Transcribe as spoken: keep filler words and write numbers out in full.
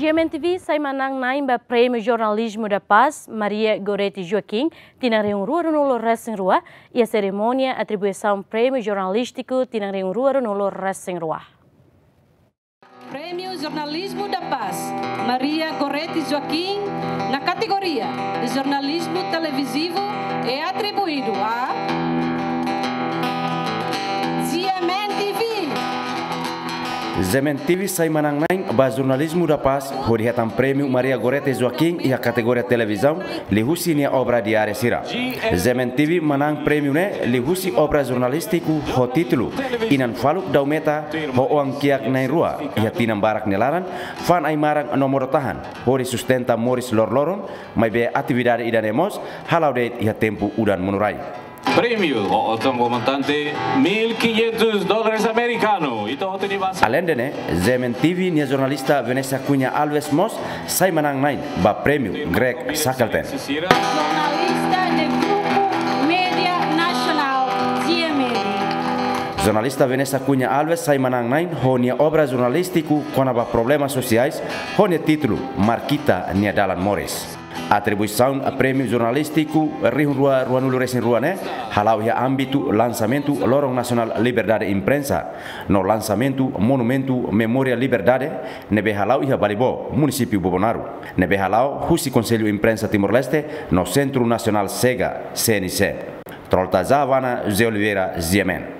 GMN TV sai manán-na'in ba Prémiu Jornalizmu da Paz Maria Goretti Joaquim tinan rihun rua ruanulu resin rua, iha serimónia atribuisaun Prémiu Jornalístiku tinan rihun rua ruanulu resin rua. Prémiu Jornalizmu da Paz Maria Goretti Joaquim, na kategoria de jornalismo televisivo, é atribuído a GMN TV. GMN TV sai manán-na'in ba Jornalizmu da Paz hodi hetan Prémiu Maria Goretti Joaquim iha kategoria televizaun, liuhusi nia obra diáriu sira. GMN TV manán prémiu ne'e liuhusi obra jornalístiku ho títulu Inan Faluk Dau Meta ho Oan Kiak Na'in Rua iha tinan barak nia laran, fa'an ai-maran no modo-tahan hodi sustenta moris loroloron, maibé atividade ida-ne'e mós hala'o de'it iha tempu udan monorai. Prémiu ho osan montante mil quinhentos dólares americano. Ita hotu ni basa. Aleinde ne'e, GMN TV nia jornalista Vanessa Cunha Alves mós sai manán-na'in ba Prémiu Greg Shackleton. Jornalista de Grupo Média Nacional, GMN. Jornalista Vanessa Cunha Alves sai manán-na'in ho nia obra jornalístiku kona-ba problemas sosiais, ho nia títulu Markita Nia Dalan Moris. Atribuisaun Prémiu Jornalístiku rihun rua ruanulu resin rua ne'e hala'o iha ámbitu lansamentu Loron Nasionál Liberdade Imprensa no lansamentu Monumentu Memória Liberdade, ne'ebé hala'o iha Balibó, Munisípiu Bobonaro, ne'ebé hala'o husi Konsellu Imprensa Timor-Leste no Sentru Nasionál Chega, C N C. Trolta Javana, José Oliveira, GMN.